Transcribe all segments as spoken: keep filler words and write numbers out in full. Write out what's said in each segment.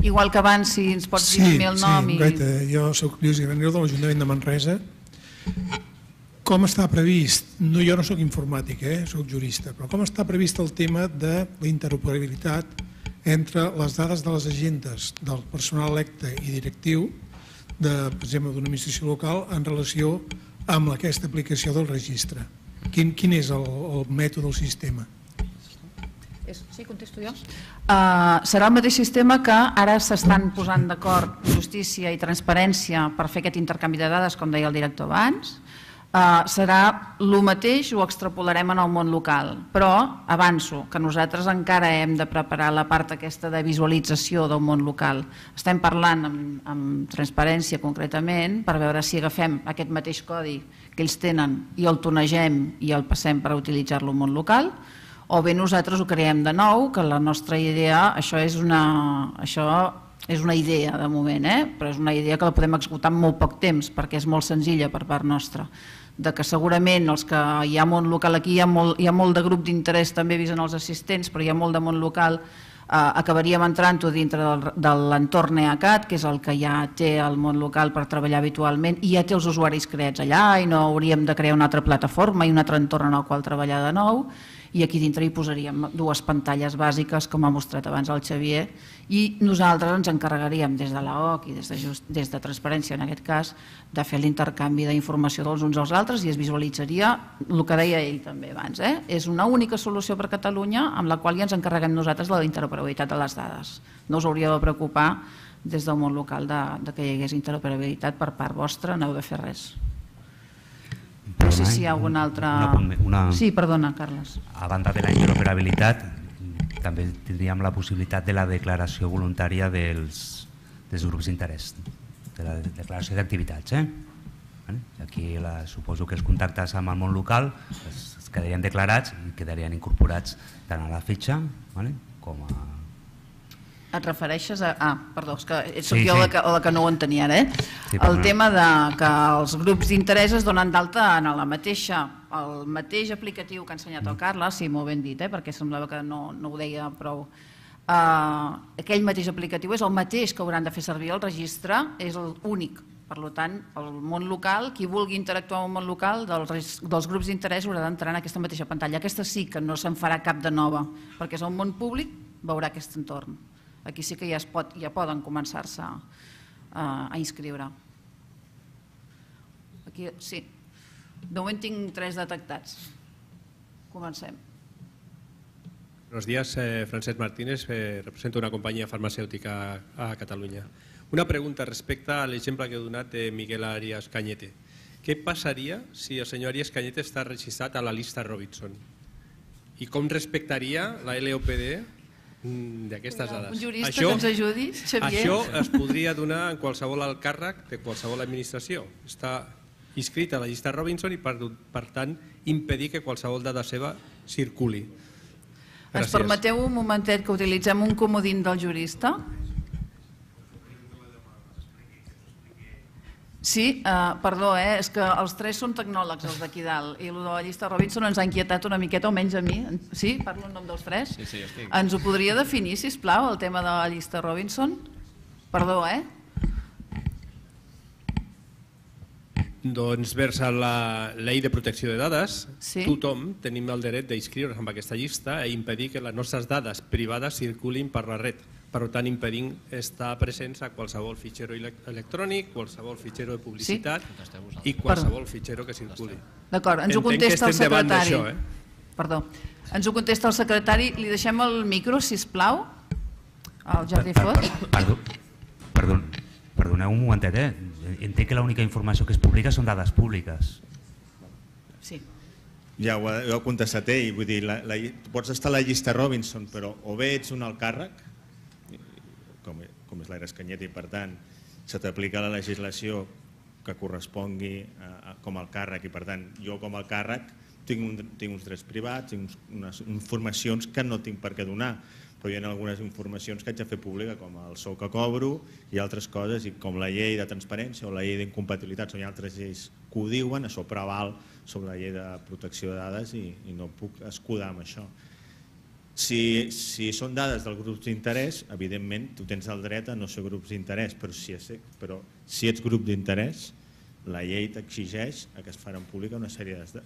Igual que abans, si ens pots dir també el nom. Sí, sí, jo soc Lluís Granero de l'Ajuntament de Manresa. Com està previst, jo no soc informàtic, soc jurista, però com està previst el tema de la interoperabilitat entre les dades de les agendes del personal electe i directiu, per exemple, d'una administració local en relació amb aquesta aplicació del registre? Quin és el mètode del sistema? Sí, contesto jo. Serà el mateix sistema que ara s'estan posant d'acord justícia i transparència per fer aquest intercanvi de dades, com deia el director abans. Serà el mateix, ho extrapolarem en el món local, però avanço que nosaltres encara hem de preparar la part aquesta de visualització del món local. Estem parlant amb transparència concretament per veure si agafem aquest mateix codi que ells tenen i el tonegem i el passem per utilitzar-lo al món local, o bé nosaltres ho creem de nou, que la nostra idea, això és una... És una idea de moment, però és una idea que la podem executar en molt poc temps perquè és molt senzilla per part nostra. De que segurament els que hi ha món local aquí, hi ha molt de grup d'interès també vist en els assistents, però hi ha molt de món local, acabaríem entrant-ho dintre de l'entorn EACAT, que és el que ja té el món local per treballar habitualment, i ja té els usuaris creats allà i no hauríem de crear una altra plataforma i un altre entorn en el qual treballar de nou. I aquí dintre hi posaríem dues pantalles bàsiques, com ha mostrat abans el Xavier, i nosaltres ens encarregaríem des de l'A O C i des de Transparència, en aquest cas, de fer l'intercanvi d'informació dels uns als altres i es visualitzaria el que deia ell també abans. És una única solució per a Catalunya amb la qual ja ens encarreguem nosaltres de la interoperabilitat de les dades. No us hauria de preocupar des del món local que hi hagués interoperabilitat per part vostra, no heu de fer res. No sé si hi ha alguna altra... Sí, perdona, Carles. A banda de la interoperabilitat, també tindríem la possibilitat de la declaració voluntària dels grups d'interès, de la declaració d'activitats. Aquí suposo que els contactes amb el món local es quedarien declarats i quedarien incorporats tant a la fitxa com a... Et refereixes a... Ah, perdó, és que soc jo la que no ho entenia ara. El tema que els grups d'interès es donen d'alta en la mateixa, el mateix aplicatiu que ha ensenyat el Carles, sí, molt ben dit, perquè semblava que no ho deia prou. Aquell mateix aplicatiu és el mateix que hauran de fer servir el registre, és l'únic. Per tant, el món local, qui vulgui interactuar amb el món local dels grups d'interès haurà d'entrar en aquesta mateixa pantalla. Aquesta sí que no se'n farà cap de nova, perquè és el món públic, veurà aquest entorn. Aquí sí que ja poden començar-se a inscriure. Aquí, sí. De moment tinc tres detectats. Comencem. Buenos días, Francesc Martínez, represento una compañía farmacéutica a Cataluña. Una pregunta respecte a l'exemple que he donat de Miguel Arias Cañete. Què passaria si el senyor Arias Cañete està registrat a la llista Robinson? I com respectaria la L O P D d'aquestes dades? Un jurista que ens ajudi, Xavier. Això es podria donar en qualsevol alt càrrec de qualsevol administració. Està inscrit a la llista Robinson i per tant impedir que qualsevol dada seva circuli. Ens permeteu un momentet que utilitzem un comodín del jurista? Sí, perdó, és que els tres són tecnòlegs, els d'aquí dalt, i el de la llista Robinson ens ha inquietat una miqueta, almenys a mi. Sí? Parlo en nom dels tres? Sí, sí, estic. Ens ho podria definir, sisplau, el tema de la llista Robinson? Perdó, eh? Doncs vers la llei de protecció de dades, tothom tenim el dret d'inscriure's en aquesta llista i impedir que les nostres dades privades circulin per la red. Per tant, impedint estar presents a qualsevol fitxero electrònic, qualsevol fitxero de publicitat i qualsevol fitxero que circuli. D'acord, ens ho contesta el secretari. Perdó, ens ho contesta el secretari. Li deixem el micro, sisplau, al Jordi Fot. Perdoneu un momentet, eh? Entenc que l'única informació que es publica són dades públiques. Sí. Ja ho ha contestat ell, vull dir, pots estar a la llista Robinson, però o bé ets un alt càrrec, com és l'Arias Cañete, i per tant se t'aplica la legislació que correspongui com al càrrec, i per tant jo com al càrrec tinc uns drets privats, tinc unes informacions que no tinc per què donar, però hi ha algunes informacions que haig de fer pública, com el sou que cobro i altres coses, i com la llei de transparència o la llei d'incompatibilitats, o hi ha altres lleis que ho diuen, això preval sobre la llei de protecció de dades i no puc escudar amb això. Si, si són dades dels grups d'interès, evidentment, tu tens el dret a no ser grups d'interès, però, si és, però si ets grup d'interès, la llei t'exigeix que es faran pública una sèrie de,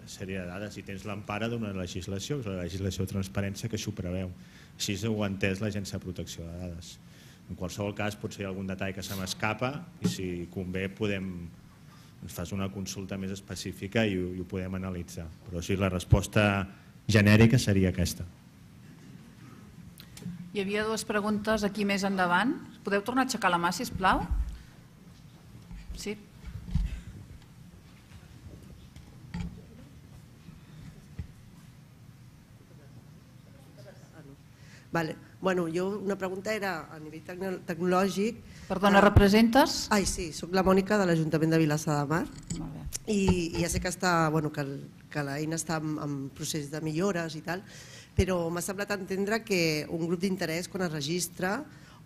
sèrie de dades i tens l'empara d'una legislació, que és la legislació de transparència, que això ho preveu. Així ho ha entès l'Agència de Protecció de Dades. En qualsevol cas, potser hi ha algun detall que se m'escapa i si convé podem, ens fas una consulta més específica i ho, i ho podem analitzar. Però sí, la resposta genèrica seria aquesta. Hi havia dues preguntes aquí més endavant. Podeu tornar a aixecar la mà, sisplau? Sí. Vale. Bueno, jo una pregunta era a nivell tecnològic. Perdona, representes? Ai, sí, soc la Mònica de l'Ajuntament de Vilassar de Mar. Molt bé. I, i ja sé que, està, bueno, que, el, que l'eina està en, en procés de millores i tal, però m'ha semblat entendre que un grup d'interès quan es registra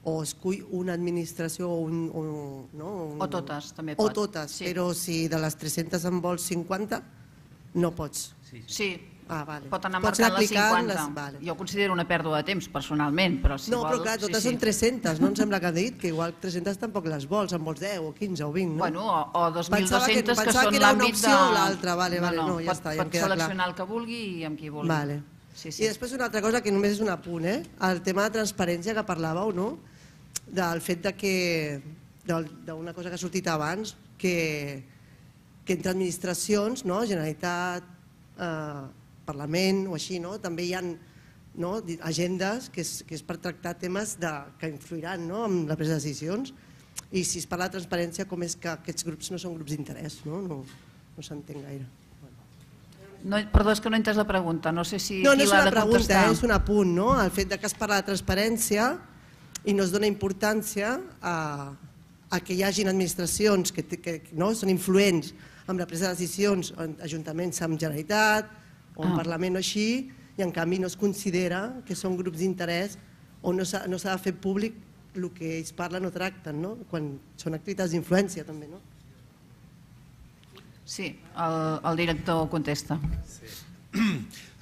o escull una administració o un... un, no, un o totes, també pot. pot. O totes, sí. Però si de les tres-centes en vols cinquanta, no pots. Sí, sí. Ah, vale. Pot anar Pots marcant les cinquanta. Les... Vale. Jo considero una pèrdua de temps, personalment, però si no, vol... però clar, totes sí, són sí. tres-centes, no em sembla que ha dit, que igual tres-centes tampoc les vols, en vols deu o quinze o vint, no? Bueno, o, o dos mil dos-centes que, que són que era una l'àmbit de... opció o l'altra, vale, vale, no, no, no, ja pot, està, ja em pot queda seleccionar clar. el que vulgui i amb qui vulgui. Vale. Sí, sí. I després una altra cosa que només és un apunt, eh? El tema de transparència que parlàveu, no? Del fet de que, d'una cosa que ha sortit abans, que, que entre administracions, no? Generalitat, eh, Parlament o així, no? També hi ha no? agendes que és, que és per tractar temes de, que influiran no? en la presa de decisions i si es parla de transparència com és que aquests grups no són grups d'interès, no, no, no s'entén gaire. No, perdó, és que no he entès la pregunta, no sé si no, no qui és l'ha una de pregunta, contestar. eh? És un apunt, no? El fet de que es parla de transparència i no es dona importància a, a que hi hagin administracions que, que no? són influents amb la presa de decisions en ajuntaments amb Generalitat o en ah. Parlament o així, i en canvi no es considera que són grups d'interès o no s'ha no de fer públic el que ells parlen o tracten, no? Quan són activitats d'influència també, no? Sí, el, el director contesta. Sí.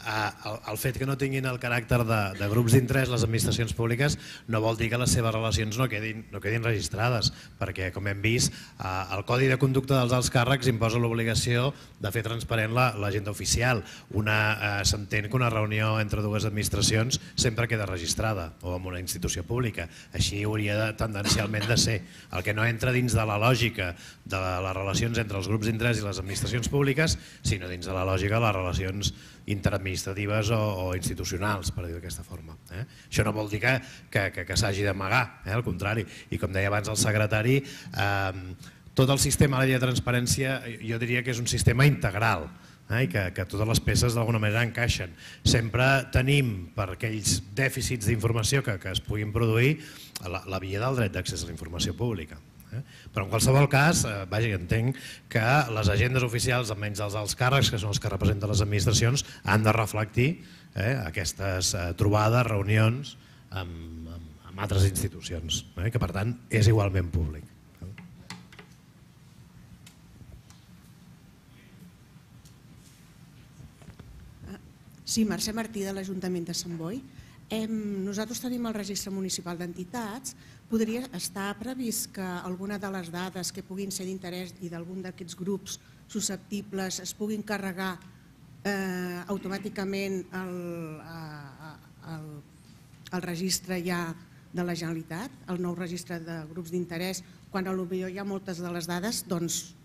El, el fet que no tinguin el caràcter de, de grups d'interès les administracions públiques no vol dir que les seves relacions no quedin, no quedin registrades, perquè com hem vist el Codi de Conducta dels alts càrrecs imposa l'obligació de fer transparent l'agenda oficial. Eh, S'entén que una reunió entre dues administracions sempre queda registrada o en una institució pública, així hauria de, tendencialment de ser. El que no entra dins de la lògica de les relacions entre els grups d'interès i les administracions públiques, sinó dins de la lògica de les relacions interadministratives o, o institucionals, per dir-ho d'aquesta forma. Eh? Això no vol dir que, que, que, que s'hagi d'amagar, eh? Al contrari. I com deia abans el secretari, eh, tot el sistema de la llei de transparència jo diria que és un sistema integral, eh? I que, que totes les peces d'alguna manera encaixen. Sempre tenim, per aquells dèficits d'informació que, que es puguin produir, la, la via del dret d'accés a la informació pública. Però en qualsevol cas, eh, vaja, entenc que les agendes oficials, almenys els alts càrrecs, que són els que representen les administracions, han de reflectir eh, aquestes eh, trobades, reunions amb, amb, amb altres institucions, eh, que per tant és igualment públic. Sí, Mercè Martí de l'Ajuntament de Sant Boi. Nosaltres tenim el registre municipal d'entitats. Podria estar previst que alguna de les dades que puguin ser d'interès i d'algun d'aquests grups susceptibles es puguin carregar eh, automàticament al, al, al registre ja de la Generalitat, el nou registre de grups d'interès, quan potser hi ha moltes de les dades, doncs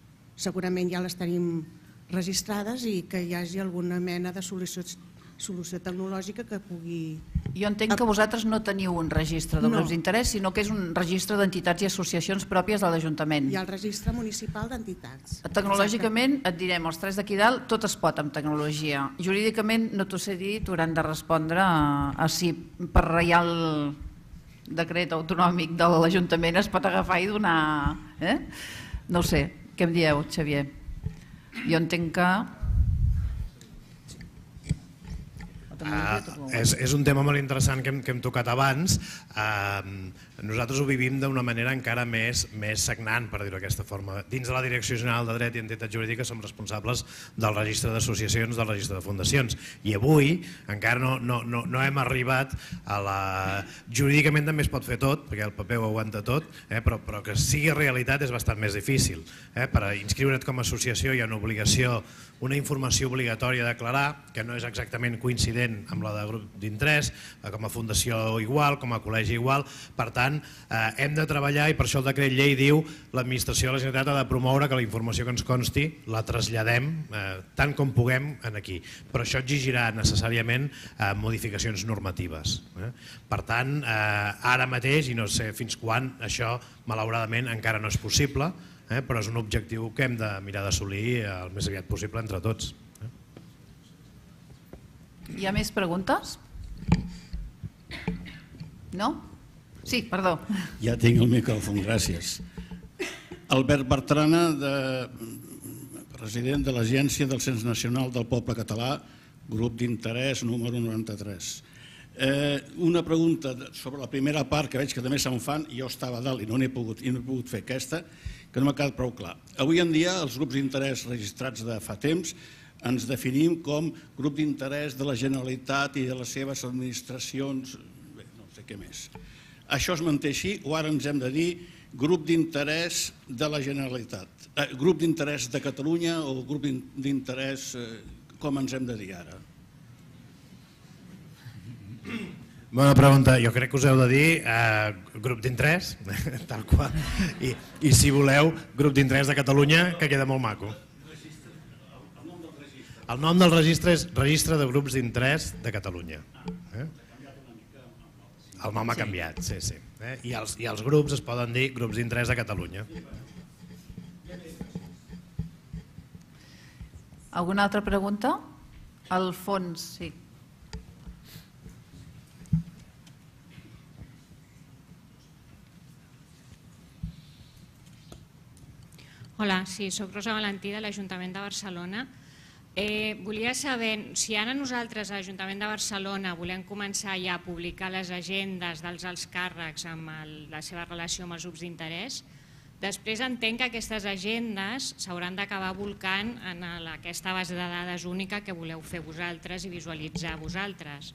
segurament ja les tenim registrades i que hi hagi alguna mena de solució solució tecnològica que pugui... Jo entenc que vosaltres no teniu un registre de grups d'interès, sinó que és un registre d'entitats i associacions pròpies de l'Ajuntament. Hi ha el registre municipal d'entitats. Tecnològicament, et direm, els tres d'aquí dalt, tot es pot amb tecnologia. Jurídicament, no t'ho sé dir, t'hauran de respondre a, a si per reial decret autonòmic de l'Ajuntament es pot agafar i donar... Eh? No ho sé, què em dieu, Xavier? Jo entenc que... És un tema molt interessant que hem tocat abans. Nosaltres ho vivim d'una manera encara més sagnant, per dir-ho d'aquesta forma. Dins de la Direcció General de Dret i Entitats Jurídiques som responsables del registre d'associacions, del registre de fundacions. I avui encara no hem arribat a la... Jurídicament també es pot fer tot, perquè el paper ho aguanta tot, però que sigui realitat és bastant més difícil. Per inscriure't com a associació hi ha una obligació, una informació obligatòria a declarar, que no és exactament coincident amb la de grup d'interès, com a fundació igual, com a col·legi igual. Per tant, hem de treballar, i per això el decret llei diu l'administració de la Generalitat ha de promoure que la informació que ens consti la traslladem tant com puguem aquí. Però això exigirà necessàriament modificacions normatives. Per tant, ara mateix, i no sé fins quan, això malauradament encara no és possible, però és un objectiu que hem de mirar d'assolir el més aviat possible entre tots. Hi ha més preguntes? No? Sí, perdó. Ja tinc el micròfon, gràcies. Albert Bertrana, president de l'Agència del Cens Nacional del Poble Català, grup d'interès número noranta-tres. Una pregunta sobre la primera part, que veig que també se'n fan, i jo estava a dalt i no n'he pogut fer aquesta, que no m'ha quedat prou clar. Avui en dia, els grups d'interès registrats de fa temps ens definim com grup d'interès de la Generalitat i de les seves administracions, no sé què més. Això es manté així o ara ens hem de dir grup d'interès de la Generalitat? Grup d'interès de Catalunya o grup d'interès, com ens hem de dir ara? Bona pregunta. Jo crec que us heu de dir grup d'interès, tal qual, i si voleu, grup d'interès de Catalunya, que queda molt maco. El nom del registre és Registre de Grups d'Interès de Catalunya. El nom ha canviat, sí, sí. I els grups es poden dir grups d'interès de Catalunya. Alguna altra pregunta? Al fons, sí. Hola, sí, soc Rosa Valentí de l'Ajuntament de Barcelona. Volia saber si ara nosaltres a l'Ajuntament de Barcelona volem començar ja a publicar les agendes dels alts càrrecs amb la seva relació amb els grups d'interès, després entenc que aquestes agendes s'hauran d'acabar volcant en aquesta base de dades única que voleu fer vosaltres i visualitzar vosaltres.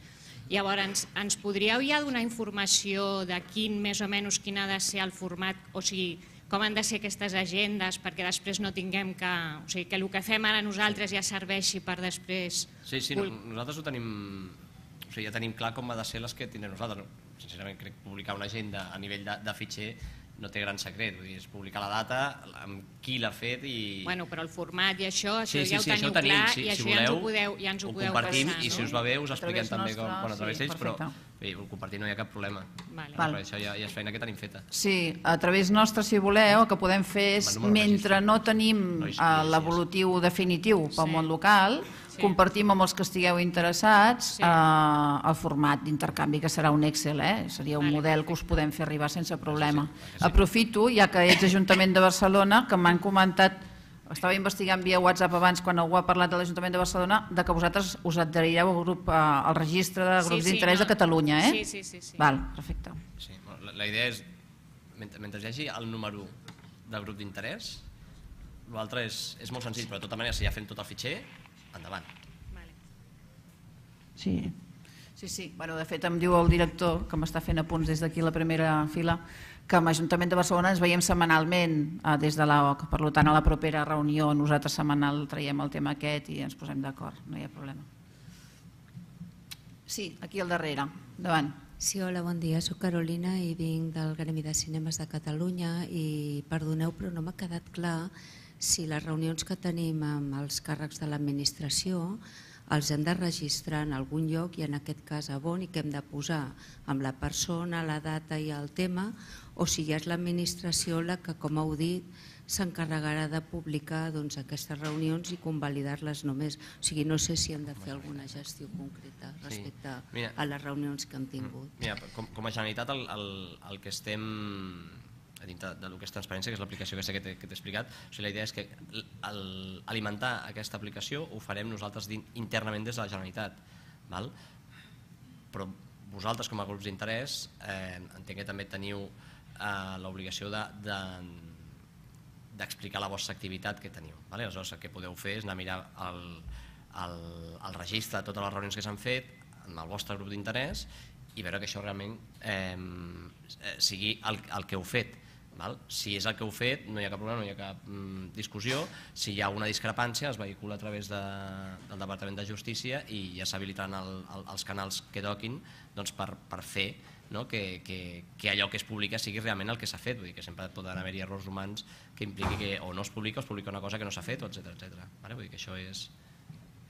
Llavors, ens podríeu ja donar informació de quin, més o menys, quin ha de ser el format, o sigui, com han de ser aquestes agendes perquè després no tinguem que... O sigui, que el que fem ara nosaltres ja serveixi per després... Sí, sí, nosaltres ho tenim... O sigui, ja tenim clar com ha de ser les que tindrem nosaltres. Sincerament, crec que publicar una agenda a nivell de fitxer no té gran secret, vull dir, és publicar la data, amb qui l'ha fet i... Bueno, però el format i això, això ja ho teniu clar i això ja ens ho podeu passar. Ho compartim i si us va bé us expliquem també com a través d'ells, però ho compartim no hi ha cap problema. Això ja és feina que tenim feta. Sí, a través nostre, si voleu, el que podem fer és, mentre no tenim l'evolutiu definitiu pel món local, compartim amb els que estigueu interessats el format d'intercanvi, que serà un Excel, seria un model que us podem fer arribar sense problema. Aprofito, ja que ets Ajuntament de Barcelona, que m'han comentat, estava investigant via WhatsApp abans quan algú ha parlat de l'Ajuntament de Barcelona, de que vosaltres us adherireu al registre de grups d'interès de Catalunya, eh? Sí, sí, sí. Val, perfecte. La idea és, mentre hi hagi el número de grup d'interès, l'altre és molt senzill, però de tota manera, si ja fem tot el fitxer, endavant. Sí, sí, sí. De fet, em diu el director, que m'està fent apunts des d'aquí a la primera fila, que amb l'Ajuntament de Barcelona ens veiem setmanalment des de l'A O C. Per tant, a la propera reunió nosaltres setmanal traiem el tema aquest i ens posem d'acord, no hi ha problema. Sí, aquí al darrere. Endavant. Sí, hola, bon dia. Soc Carolina i vinc del Gremi de Cinemes de Catalunya i perdoneu, però no m'ha quedat clar si les reunions que tenim amb els càrrecs de l'administració els hem de registrar en algun lloc i en aquest cas a on i què hem de posar amb la persona, la data i el tema, o si ja és l'administració la que, com heu dit, s'encarregarà de publicar aquestes reunions i convalidar-les només. O sigui, no sé si hem de fer alguna gestió concreta respecte a les reunions que hem tingut. Mira, com a Generalitat el que estem... dintre del que és transparència, que és l'aplicació que t'he explicat, la idea és que alimentar aquesta aplicació ho farem nosaltres internament des de la Generalitat. Però vosaltres, com a grups d'interès, entenc que també teniu l'obligació d'explicar la vostra activitat que teniu. Aleshores, el que podeu fer és anar a mirar el registre de totes les reunions que s'han fet amb el vostre grup d'interès i veure que això realment sigui el que heu fet. Si és el que heu fet, no hi ha cap problema, no hi ha cap discussió. Si hi ha una discrepància, es vehicula a través del Departament de Justícia i ja s'habilitaran els canals que toquin per fer que allò que es publica sigui realment el que s'ha fet. Vull dir que sempre poden haver-hi errors humans que impliqui que o no es publica o es publica una cosa que no s'ha fet, etcètera. Vull dir que això és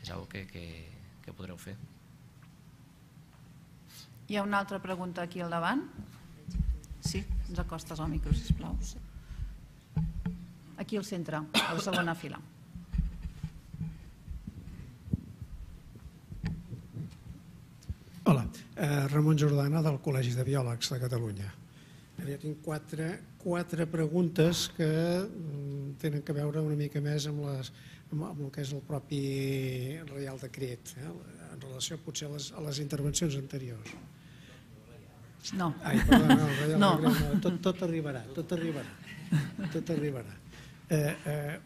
una cosa que podreu fer. Hi ha una altra pregunta aquí al davant? Sí, ens acostes al micro, sisplau. Aquí al centre, a la segona fila. Hola, Ramon Jordana del Col·legi de Biòlegs de Catalunya. Jo tinc quatre preguntes que tenen a veure una mica més amb el que és el propi Reial Decret, en relació potser a les intervencions anteriors. No. Ai, perdó, no, tot arribarà, tot arribarà, tot arribarà.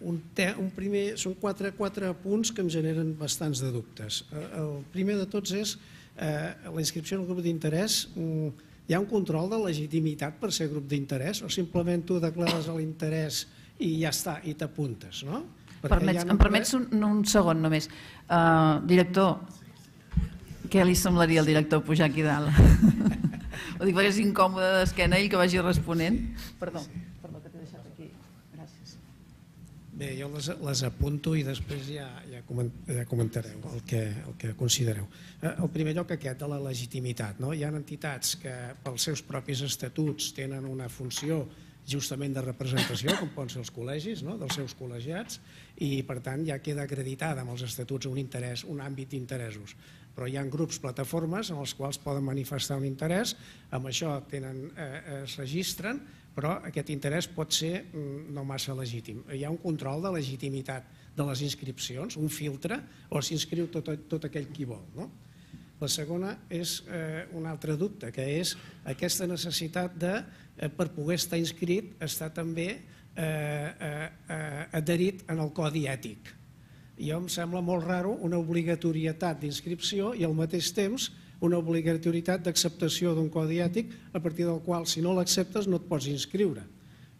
Un primer, són quatre punts que em generen bastants de dubtes. El primer de tots és la inscripció en el grup d'interès. Hi ha un control de legitimitat per ser grup d'interès o simplement tu declares l'interès i ja està, i t'apuntes, no? Em permets un segon només. Director, què li semblaria al director pujar aquí dalt? Ho dic perquè és incòmode d'esquena ell que vagi responent. Perdó, perdó que t'he deixat aquí. Gràcies. Bé, jo les apunto i després ja comentareu el que considereu. En primer lloc aquest de la legitimitat. Hi ha entitats que pels seus propis estatuts tenen una funció justament de representació, com poden ser els col·legis, dels seus col·legiats, i per tant ja queda acreditada amb els estatuts un interès, un àmbit d'interessos. Però hi ha grups, plataformes, en els quals poden manifestar un interès, amb això es registren, però aquest interès pot ser no massa legítim. Hi ha un control de legitimitat de les inscripcions, un filtre, o s'inscriu tot aquell qui vol. La segona és un altre dubte, que és aquesta necessitat de, per poder estar inscrit, estar també adherit en el codi ètic. Jo em sembla molt raro una obligatorietat d'inscripció i al mateix temps una obligatorietat d'acceptació d'un codi ètic a partir del qual, si no l'acceptes, no et pots inscriure,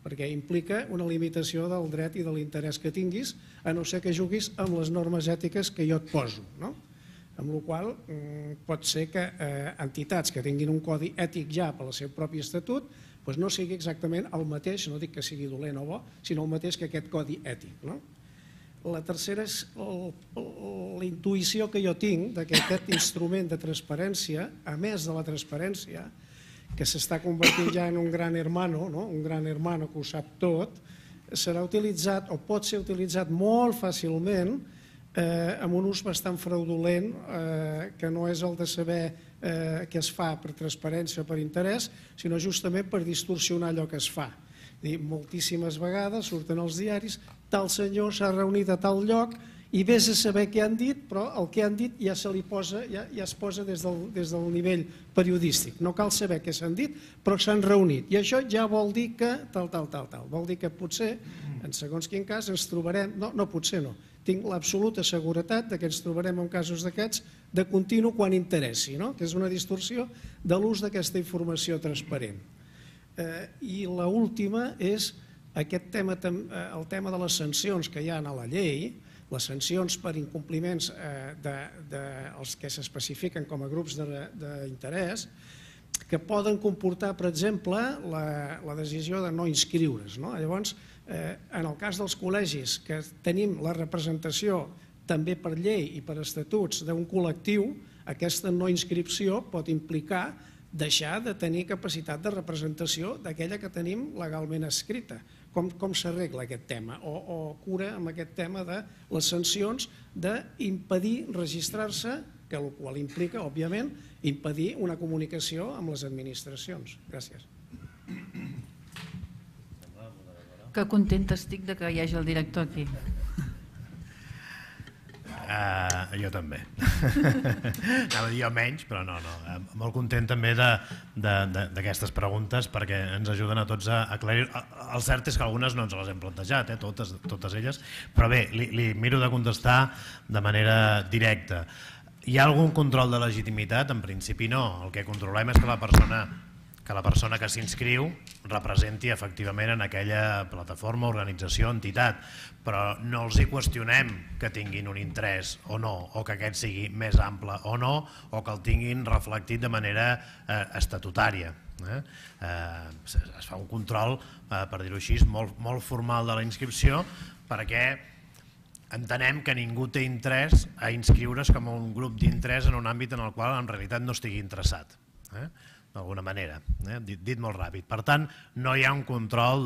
perquè implica una limitació del dret i de l'interès que tinguis, a no ser que juguis amb les normes ètiques que jo et poso. Amb la qual cosa pot ser que entitats que tinguin un codi ètic ja per al seu propi estatut no sigui exactament el mateix, no dic que sigui dolent o bo, sinó el mateix que aquest codi ètic. La tercera és la intuïció que jo tinc que aquest instrument de transparència, a més de la transparència, que s'està convertint ja en un gran hermano, un gran hermano que ho sap tot, serà utilitzat o pot ser utilitzat molt fàcilment amb un ús bastant fraudulent, que no és el de saber què es fa per transparència o per interès, sinó justament per distorsionar allò que es fa. Moltíssimes vegades surten als diaris, tal senyor s'ha reunit a tal lloc i vés a saber què han dit, però el que han dit ja es posa des del nivell periodístic. No cal saber què s'han dit, però s'han reunit. I això ja vol dir que tal, tal, tal, tal. Vol dir que potser, en segons quin cas, ens trobarem... No, no potser no. Tinc l'absoluta seguretat que ens trobarem en casos d'aquests de continu quan interessi, que és una distorsió de l'ús d'aquesta informació transparent. I l'última és aquest tema, el tema de les sancions que hi ha a la llei, les sancions per incompliments dels que s'especifiquen com a grups d'interès, que poden comportar, per exemple, la decisió de no inscriure's. Llavors, en el cas dels col·legis, que tenim la representació també per llei i per estatuts d'un col·lectiu, aquesta no inscripció pot implicar deixar de tenir capacitat de representació d'aquella que tenim legalment escrita. Com s'arregla aquest tema? O cura amb aquest tema de les sancions d'impedir registrar-se, que el qual implica, òbviament, impedir una comunicació amb les administracions. Gràcies. Que contenta estic que hi hagi el director aquí. Uh, jo també. Anava a dir jo menys, però no, no. Molt content també d'aquestes preguntes perquè ens ajuden a tots a aclarir. El cert és que algunes no ens les hem plantejat, eh, totes, totes elles, però bé, li, li miro de contestar de manera directa. Hi ha algun control de legitimitat? En principi no. El que controlem és que la persona que la persona que s'inscriu representi efectivament en aquella plataforma, organització, entitat, però no els hi qüestionem que tinguin un interès o no, o que aquest sigui més ample o no, o que el tinguin reflectit de manera eh, estatutària. Eh? Eh, es fa un control, eh, per dir-ho així, molt, molt formal de la inscripció, perquè entenem que ningú té interès a inscriure's com un grup d'interès en un àmbit en el qual en realitat no estigui interessat. Eh? D'alguna manera, eh? dit, dit molt ràpid. Per tant, no hi ha un control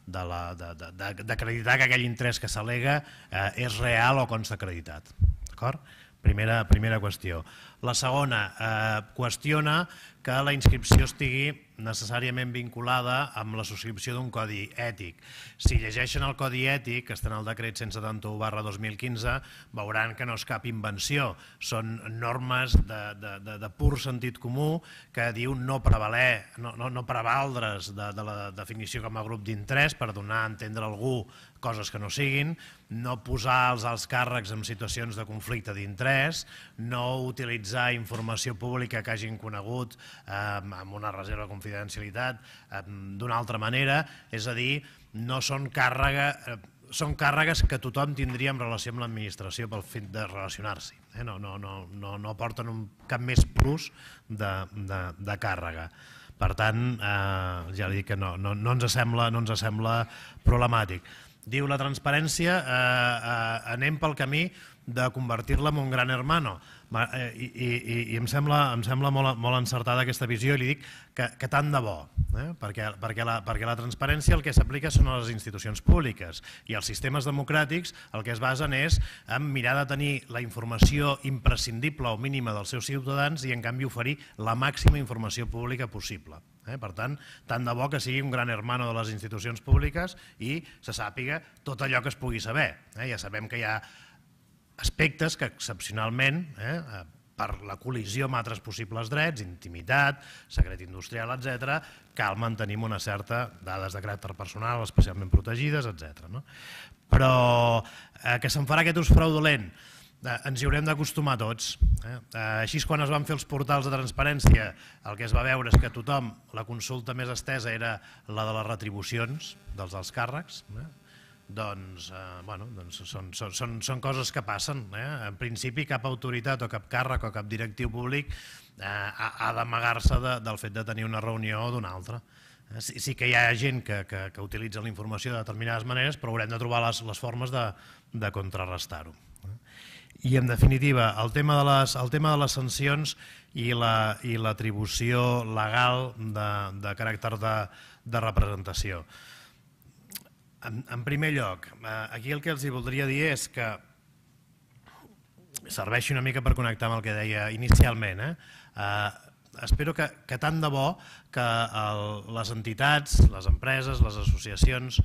d'acreditar que aquell interès que s'al·lega eh, és real o consta acreditat. D'acord? Primera, primera qüestió. La segona, eh, qüestiona que la inscripció estigui necessàriament vinculada amb la subscripció d'un codi ètic. Si llegeixen el codi ètic, que està en el decret cent setanta-u barra dos mil quinze, veuran que no és cap invenció. Són normes de, de, de, de pur sentit comú que diu no prevaler, no, no, no prevaldre's de, de la definició com a grup d'interès per donar a entendre a algú coses que no siguin, no posar els alts càrrecs en situacions de conflicte d'interès, no utilitzar informació pública que hagin conegut eh, amb una reserva de confidencialitat eh, d'una altra manera, és a dir, no són càrrega, eh, són càrregues que tothom tindria en relació amb l'administració pel fet de relacionar-s'hi. Eh? No, no, no, no, no porten un, cap més plus de, de, de càrrega. Per tant, eh, ja dic que no, no, no, ens sembla, no ens sembla problemàtic. Diu la transparència, eh, eh, anem pel camí de convertir-la en un gran hermano. I, i, i em sembla, em sembla molt, molt encertada aquesta visió i li dic que, que tant de bo, eh? perquè, perquè, la, perquè la transparència el que s'aplica són a les institucions públiques i els sistemes democràtics el que es basen és en mirar de tenir la informació imprescindible o mínima dels seus ciutadans i en canvi oferir la màxima informació pública possible. Eh? Per tant, tant de bo que sigui un gran hermano de les institucions públiques i se sàpiga tot allò que es pugui saber. Eh? Ja sabem que hi ha aspectes que excepcionalment, eh, per la col·lisió amb altres possibles drets, intimitat, secret industrial, etcètera, cal mantenir una certa dades de caràcter personal especialment protegides, etcètera. No? Però eh, que se'n farà aquest ús fraudulent, eh, ens hi haurem d'acostumar tots. Eh? Eh, així quan es van fer els portals de transparència, el que es va veure és que tothom, la consulta més estesa era la de les retribucions dels alts càrrecs, eh? Doncs, eh, bueno, doncs són, són, són coses que passen. Eh? En principi cap autoritat o cap càrrec o cap directiu públic eh, ha, ha d'amagar-se de, del fet de tenir una reunió o d'una altra. Eh? Sí, sí que hi ha gent que, que, que utilitza la informació de determinades maneres, però haurem de trobar les, les formes de, de contrarrestar-ho. Eh? I en definitiva, el tema de les, el tema de les sancions i l'atribució legal de, de caràcter de, de representació. En, en primer lloc, aquí el que els voldria dir és que serveixi una mica per connectar amb el que deia inicialment. Eh? Eh, espero que, que tant de bo que el, les entitats, les empreses, les associacions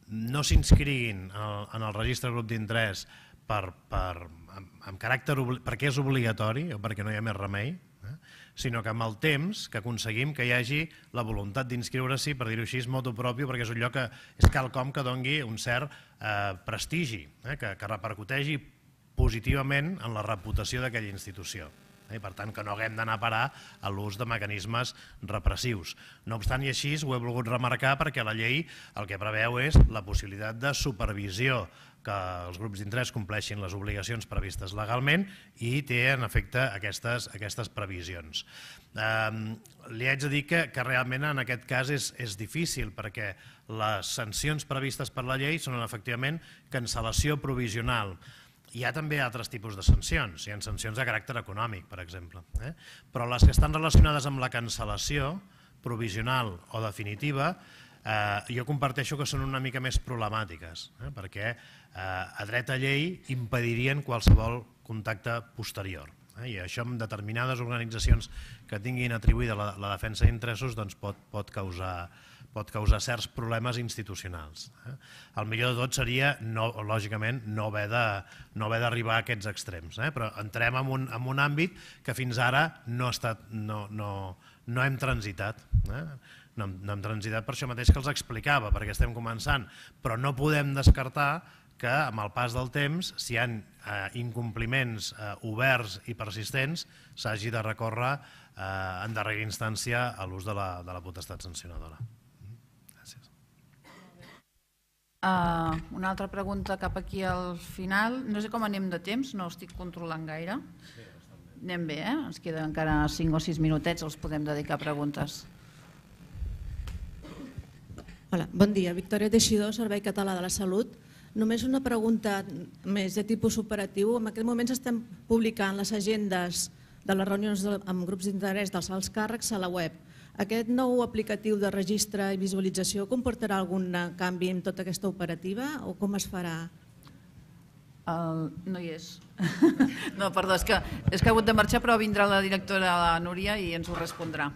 no s'inscriguin en el registre grup d'interès per, per, amb, amb caràcter, perquè és obligatori o perquè no hi ha més remei, eh? sinó que amb el temps que aconseguim que hi hagi la voluntat d'inscriure-s'hi, per dir-ho així, motu propio, perquè és un lloc que és quelcom que doni un cert eh, prestigi, eh, que, que repercuteixi positivament en la reputació d'aquella institució. Eh, per tant, que no haguem d'anar a parar a l'ús de mecanismes repressius. No obstant i així, ho he volgut remarcar perquè la llei el que preveu és la possibilitat de supervisió que els grups d'interès compleixin les obligacions previstes legalment i té en efecte aquestes, aquestes previsions. Eh, li haig de dir que, que realment en aquest cas és, és difícil perquè les sancions previstes per la llei són efectivament cancel·lació provisional. Hi ha també altres tipus de sancions, hi ha sancions de caràcter econòmic, per exemple, eh? però les que estan relacionades amb la cancel·lació provisional o definitiva Eh, jo comparteixo que són una mica més problemàtiques, eh, perquè eh, a dret a llei impedirien qualsevol contacte posterior. Eh, I això en determinades organitzacions que tinguin atribuïda la, la defensa d'interessos doncs pot, pot, causar, pot causar certs problemes institucionals. El millor de tot seria, lògicament, no haver d'arribar a aquests extrems, però entrem en un àmbit que fins ara no hem transitat. No hem transitat per això mateix que els explicava, perquè estem començant, però no podem descartar que amb el pas del temps, si hi ha incompliments oberts i persistents, s'hagi de recórrer en darrera instància a l'ús de la potestat sancionadora. Gràcies. Una altra pregunta cap aquí al final. No sé com anem de temps, no estic controlant gaire. Anem bé, eh? Ens queden encara cinc o sis minutets, els podem dedicar a preguntes. Hola, bon dia. Victòria Teixidor, Servei Català de la Salut. Només una pregunta més de tipus operatiu. En aquest moment estem publicant les agendes de les reunions amb grups d'interès dels alts càrrecs a la web. Aquest nou aplicatiu de registre i visualització comportarà algun canvi en tota aquesta operativa o com es farà? No hi és. No, perdó, és que ha hagut de marxar, però vindrà la directora, la Núria, i ens ho respondrà.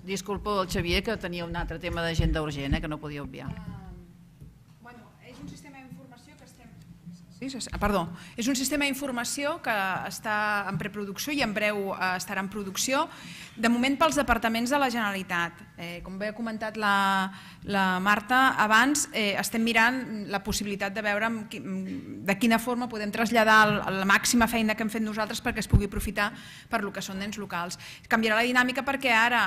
Disculpo el Xavier, que tenia un altre tema d'agenda urgent, que no podia obviar. És un sistema d'informació que estem... Perdó, és un sistema d'informació que està en preproducció i en breu estarà en producció, de moment pels departaments de la Generalitat. Com bé ha comentat la Marta abans, estem mirant la possibilitat de veure de quina forma podem traslladar la màxima feina que hem fet nosaltres perquè es pugui aprofitar per lo que són ens locals. Canviarà la dinàmica perquè ara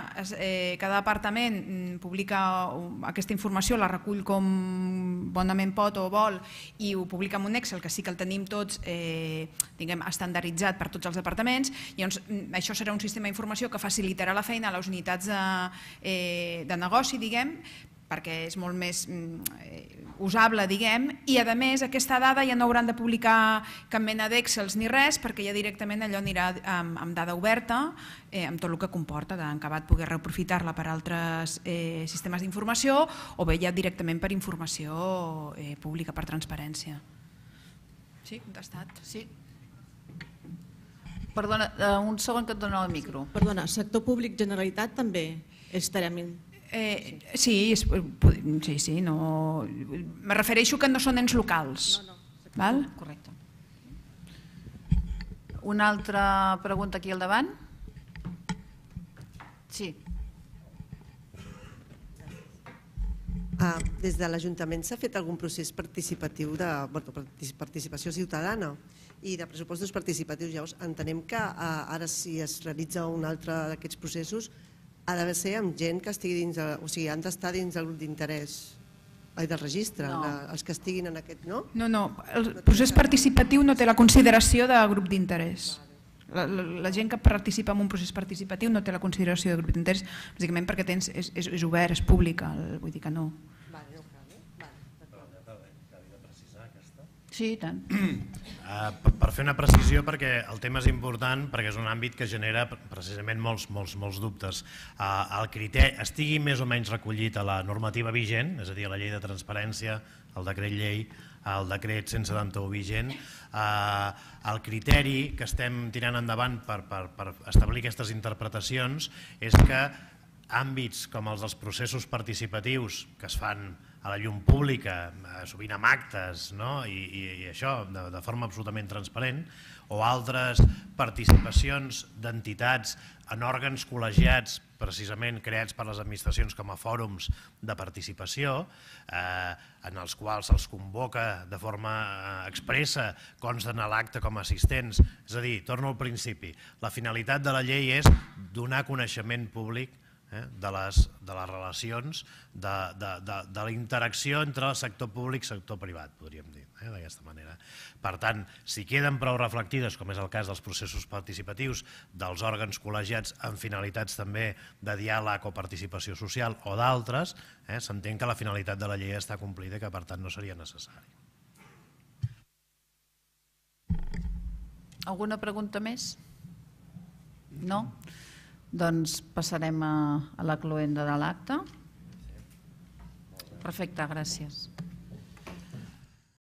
cada departament publica aquesta informació, la recull com bonament pot o vol i ho publica en un Excel, que sí que el tenim tots estandarditzat per tots els departaments. Això serà un sistema d'informació que facilitarà la feina a les unitats de negoci, diguem, perquè és molt més usable, diguem, i a més aquesta dada ja no hauran de publicar cap mena d'Excels ni res, perquè ja directament allò anirà amb dada oberta, amb tot el que comporta, d'acabat poder reaprofitar-la per altres sistemes d'informació o bé ja directament per informació pública, per transparència. Sí, contestat. Sí. Perdona, un segon que et dono el micro. Perdona, sector públic Generalitat també estarem... Sí, sí, no... Me refereixo que no són ens locals. Correcte. Una altra pregunta aquí al davant? Sí. Des de l'Ajuntament s'ha fet algun procés participatiu de participació ciutadana i de pressupostos participatius. Llavors entenem que ara si es realitza un altre d'aquests processos ha de ser amb gent que estigui dins, o sigui, han d'estar dins del grup d'interès, del registre, els que estiguin en aquest, no? No, no, el procés participatiu no té la consideració de grup d'interès. La gent que participa en un procés participatiu no té la consideració de grup d'interès, bàsicament perquè és obert, és públic, vull dir que no. Sí, tant. Per fer una precisió, perquè el tema és important, perquè és un àmbit que genera precisament molts dubtes. El criteri estigui més o menys recollit a la normativa vigent, és a dir, a la llei de transparència, el decret llei, el decret cent setanta-u vigent, el criteri que estem tirant endavant per establir aquestes interpretacions és que àmbits com els dels processos participatius que es fan a la llum pública, sovint amb actes i això de forma absolutament transparent, o altres participacions d'entitats en òrgans col·legiats precisament creats per les administracions com a fòrums de participació, en els quals se'ls convoca de forma expressa, consten a l'acte com a assistents. És a dir, torno al principi, la finalitat de la llei és donar coneixement públic de les relacions, de la interacció entre el sector públic i el sector privat, podríem dir, d'aquesta manera. Per tant, si queden prou reflectides, com és el cas dels processos participatius, dels òrgans col·legiats amb finalitats també de diàleg o participació social o d'altres, s'entén que la finalitat de la llei està complida i que per tant no seria necessari. Alguna pregunta més? No? Doncs passarem a la cloenda de l'acte. Perfecte, gràcies.